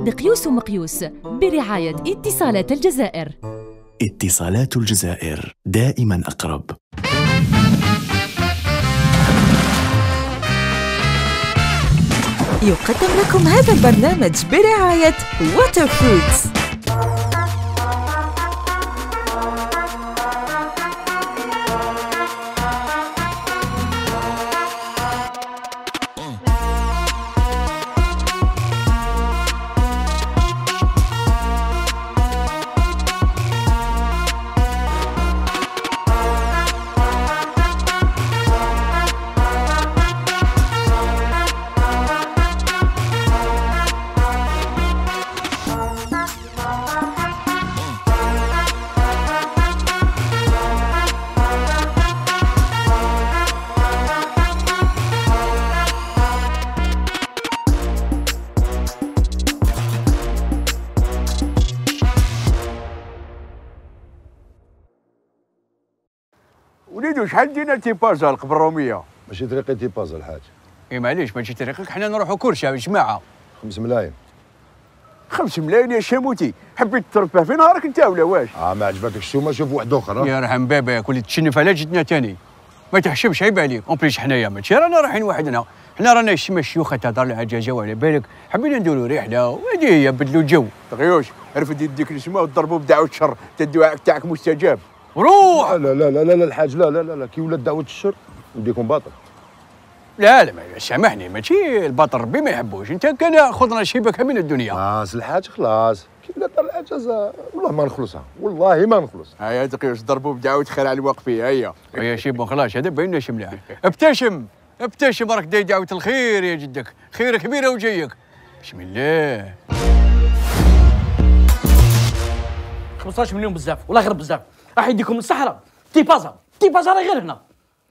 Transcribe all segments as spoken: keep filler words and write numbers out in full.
دقيوس ومقيوس برعاية اتصالات الجزائر. اتصالات الجزائر دائما أقرب. يقدم لكم هذا البرنامج برعاية واتر فروتس. وليدو شحال دينا تيبازا القبر الروميه؟ ماشي طريقي تيبازا الحاج. اي معليش ماشي طريقك، حنا نروحو كرشه بالجماعه. خمس ملايين. خمس ملايين يا شاموتي، حبيت تربح في نهارك انت ولا واش؟ اه ما عجبكش السومه شوف واحد اخر. يا رحم باباك ولي تشنف على جدنا تاني. ما تحشمش عيب عليك، اون بليس حنايا ماشي رانا رايحين وحدنا، حنا رانا شي شيوخ تهضر العجاجه وعلى بالك، حبينا نديرو رحله وهادي هي بدلو الجو. تغيوش رفد يديك السما وضربوا بدعوه الشر، الدعاء تاعك مستجاب. روح. لا لا لا لا لا الحاج لا لا لا, لا. كي ولات دعوه الشر نديكم باطل. لا لا سامحني ماشي الباطل ربي ما يحبوش، انت كان خذنا شيبك من الدنيا. خلاص الحاج خلاص، كي ولات دار الاجازه والله ما نخلصها، والله ما نخلص. هيا دقيقه ضربوا بدعوه خير على الواقفين. هيا هيا شيبو خلاص هذا باين لنا مليح. ابتسم ابتسم راك داير دعوه الخير يا جدك، خير كبيره وجايك. بسم الله. خمسطاش مليون بزاف والله غير بزاف، راح يديكم للصحراء. تيبازا تيبازا راه غير هنا.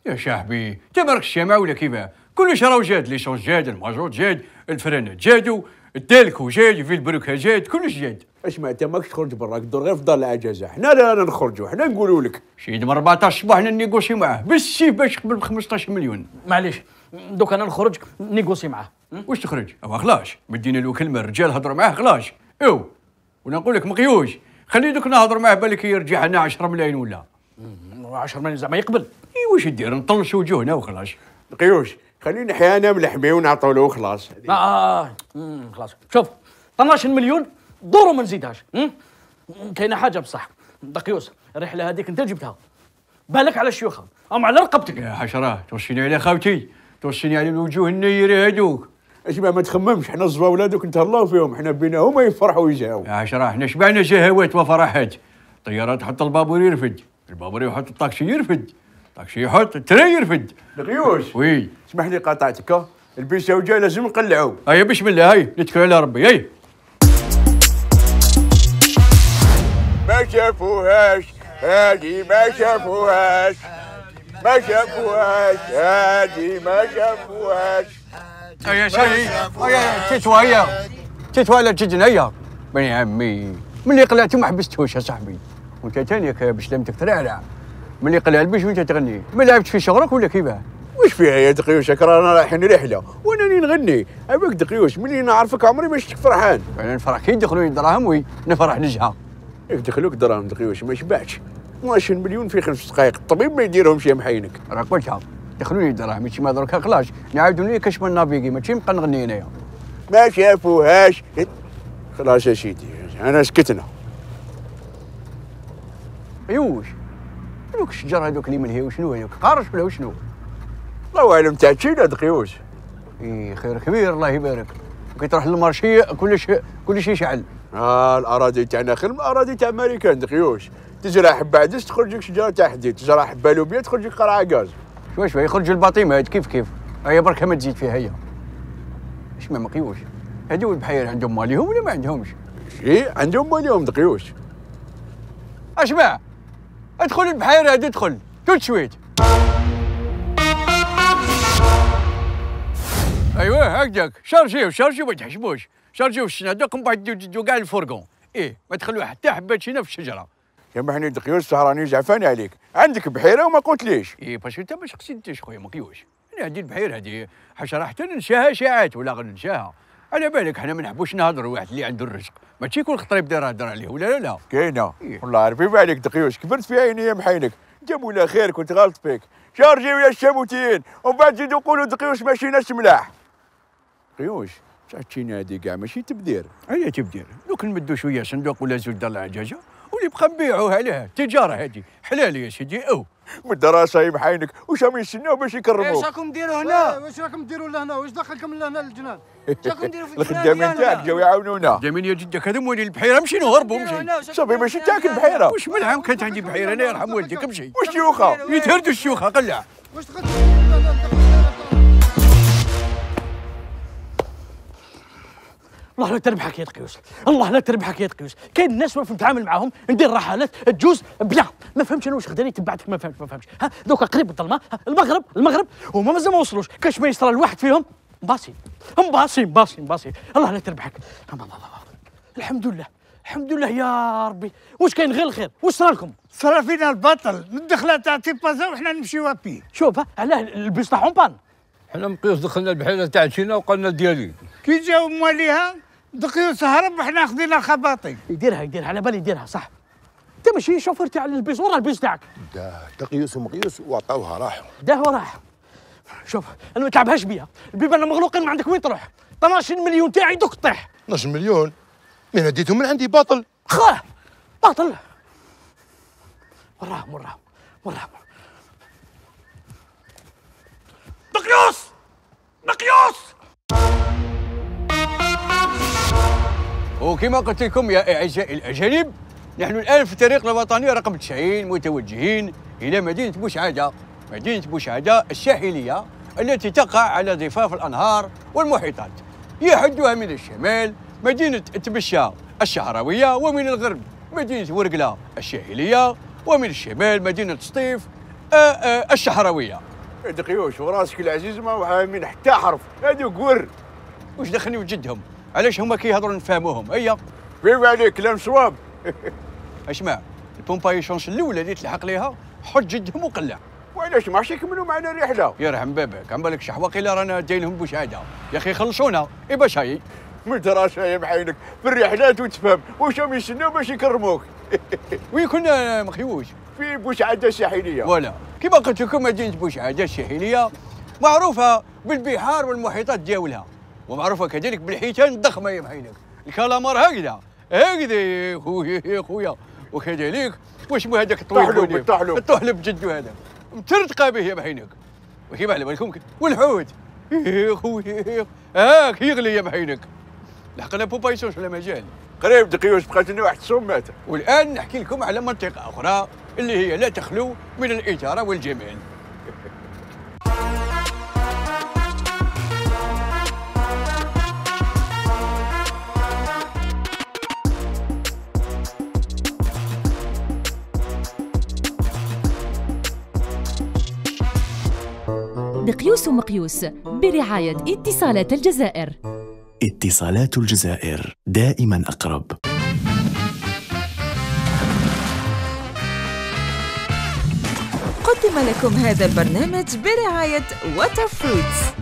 يا صاحبي انت مالكش الشمع ولا كيفاه؟ كلش راهو جاد، ليسونس جاد، المازوت جاد، الفرانات جادو، الدالكو جاد، في البروكه جاد، كلش جاد. اسمع انت ماكش تخرج براك دور غير في دار العجازه، حنا لا نخرجوا، حنا نقولوا لك شيد من أربعطاش صباح نيغوسي معاه بالسيف باش يقبل ب خمسطاش مليون. معليش دوك انا نخرج نيغوسي معاه. واش تخرج؟ اوا خلاص مدينا له كلمه، الرجال هضروا معاه خلاص. ايوا وانا نقول لك مقيوش خلي دوك نهضر معاه بالك يرجع لنا عشرة ملايين ولا عشرة ملايين زعما يقبل. اي واش دير نطلشوا وجوهنا وخلاص. قيوش خلينا حيانا ملحمي ونعطوا له وخلاص. اه اه خلاص شوف اثناش مليون دورو ما نزيدهاش. كاينه حاجه بصح دقيوس، الرحله هذيك انت جبتها، بالك على الشيوخه ام على رقبتك يا حشره. توصيني على خاوتي، توصيني على الوجوه النيره هذوك. اسمع ما تخممش، حنا الزواوله دوك نتهلاو فيهم، حنا بينهم يفرحوا ويجاو. يا حشره حنا شبعنا شهوات وفرحات. الطياره تحط البابور يرفد، البابور يحط الطاكسي يرفد، الطاكسي يحط التري يرفد. دقيوش وي اسمح لي قاطعتك، البيسه وجا لازم نقلعوا. هيا بسم الله هاي نتكل على ربي. هاي ما شافوهاش هادي، ما شافوهاش ما شافوهاش هادي، ما شافوهاش. هيا شاي هيا تتوا هيا تتوا على جدنا. هيا بني عمي ملي قلعتي ما حبستوش يا صاحبي، وانت تانيك باش لم تترعرع. ملي قلع البيش وانت تغني، ما لعبت في شغلك ولا كيفاه؟ واش فيها يا دقيوش؟ رانا رايحين رحله وانني نغني. عباك دقيوش ملي نعرفك عمري ما شفتك فرحان. انا نفرح كي يدخلوا دراهم وي نفرح نجها. يدخلوك دراهم دقيوش ما شبعتش. اثناش مليون في خمس دقائق، الطبيب ما يديرهمش يا محينك. راك قلتها دخلوني دراهم ماشي ما دركا خلاص نعاودوا لي كاش من نافيكي ماشي نبقى نغني هنايا. ما شافوهاش خلاص يا سيدي انا سكتنا. ايوش هذوك الشجر هذوك اللي من هي وشنو هذوك قارش ولا وشنو؟ الله اعلم تاع تشينا دقيوش. اي خير كبير الله يبارك. كي تروح للمارشي كلش كلش يشعل. اه الاراضي تاعنا خير من الاراضي تاع امريكان دقيوش. تزرع حبه عدس تخرج لك شجره تاع حديد، تزرع حبه لوبيا تخرج لك قرعه غاز. شوي شوي يخرج الباطيمات كيف كيف. هيا بركه ما تزيد فيها. هيا اش ما مقيوش هذو البحير عندهم ماليهم ولا ما عندهمش؟ ايه عندهم ماليهم دقيوش. اسمع ادخل البحيره هذه ادخل توت شويت. ايوه هكذاك شارجيو شارجيو ما تحشموش، شارجيو الشنادق من بعد تدو كاع الفرقون. ايه ما تخلوا حتى حبه شينا في الشجره. يا محني دقيوش سهراني زعفاني عليك، عندك بحيره وما قلتليش. ايه باش انت باش قصدتش خويا مقيوش. انا هذه البحيره هذه حشره حتى ننساها ساعات ولا غننساها. على بالك حنا ما نحبوش نهضروا واحد اللي عنده الرزق ماشي يكون خطر يبدا يهضر عليه ولا لا لا. كاينه والله عارفين بالك دقيوش كبرت في عيني يا محينك. انت مولا خير كنت غلط فيك. شارجيو يا الشاموتين ومن بعد زيدوا قولوا دقيوش ماشي ناس ملاح. دقيوش تعطينا هذه كاع ماشي تبدير. هيا تبدير دوك نمدوا شويه صندوق ولا زول دار العجاجه واللي بقى نبيعوه عليها التجاره هذه حلال يا سيدي. او من الدراسه يا محينك واش راهم يستناو باش يكرموك؟ واش راكم ديروا هنا؟ واش راكم ديروا لهنا؟ واش دخلكم لهنا للجنان؟ واش راكم ديروا في الجنان؟ الخدامين تاعك جاو يعاونونا. خدامين يا جدك هذا موالين البحيره مشي نهربوا مشي. صافي ماشي تاعك البحيره. واش ملعب كانت عندي بحيره انا يرحم والديك مشي. واش شيوخه؟ يتهردوا الشيوخه قلع. واش دخلتوا الله لا تربحك يا دقيوس، الله لا تربحك يا دقيوس. كاين الناس واقف نتعامل معاهم ندير رحلات تجوز بيان. ما فهمتش انا واش خداني تبعتك ما فهمتش ما فهمتش. ها دوكا قريب الظلمه المغرب المغرب هما مازال ما وصلوش. كاش ما يصرى الواحد فيهم مباصي مباصي مباصي مباصي. الله لا تربحك. الحمد لله الحمد لله يا ربي. واش كاين غير الخير؟ واش صرا لكم؟ صرا فينا البطل الدخله تاع تيبازا وحنا نمشيو بيه. شوف علاه البيس تاعهم بان. حنا مقيوس دخلنا البحيره تاع تشينا وقالنا ديالي كي جاو مواليها دقيوس هرب وحنا خدينا خباطي. يديرها يديرها على بالي يديرها صح. انت ماشي شوفير تاع البيس ورا البيس تاعك. دقيوس ومقيوس وعطاوها راحوا. داه وراح. شوف انا ما تلعبهاش بيا، البيبان مغلوقين ما عندك وين تروح. اثناش مليون تاعي دوك طيح. اثناش مليون من هديتهم من عندي باطل. خاه باطل. وراهم وراهم وراهم. دقيوس دقيوس. وكما قلت لكم يا اعزائي الاجانب نحن الان في الطريق الوطني رقم تسعين متوجهين الى مدينه بوشعاده. مدينه بوشعاده الساحليه التي تقع على ضفاف الانهار والمحيطات. يحدها من الشمال مدينه تبشة الشعراويه ومن الغرب مدينه ورقله الساحليه ومن الشمال مدينه سطيف الشعراويه. دقيوش وراسك العزيز ما فاهمين حتى حرف. هادو قور واش دخلني وجدهم؟ علاش هما كيهضروا نفهموهم؟ هيا فيما عليك كلام صواب. اسمع البومبايشونس الاولى اللي تلحق ليها حط جدهم وقلع. وعلاش ما عرفتش يكملوا معنا الرحله؟ يرحم بابك عم بالك شحواقي لا رانا دايرهم بوشعاده يا اخي خلصونا. اي باش هاي من دراسه يا محينك في الرحلات وتفهم واش راهم يستناو باش يكرموك. وين كنا مخيوش؟ في بوشعاده الساحليه. فوالا كيما قلت لكم مدينه بوشعاده الساحليه معروفه بالبحار والمحيطات ديالها ومعروفه كذلك بالحيتان الضخمه يا محينك. الكالامار هكذا هكذا يا خويا يا خويا. وكذلك واش مو هذاك الطويل الطحلب الطحلب جدو هذا مترتقى به يا محينك. وكيما على بالكم والحوت يا خويا هاك يغلي يا محينك. لحقنا بوبايسوس ولا مازال؟ قريب دقيوش بقات لنا واحد الصومات. والان نحكي لكم على منطقه اخرى اللي هي لا تخلو من الاثاره والجمال. دقيوس ومقيوس برعاية اتصالات الجزائر. اتصالات الجزائر دائما أقرب. قدم لكم هذا البرنامج برعاية واتر فروتس.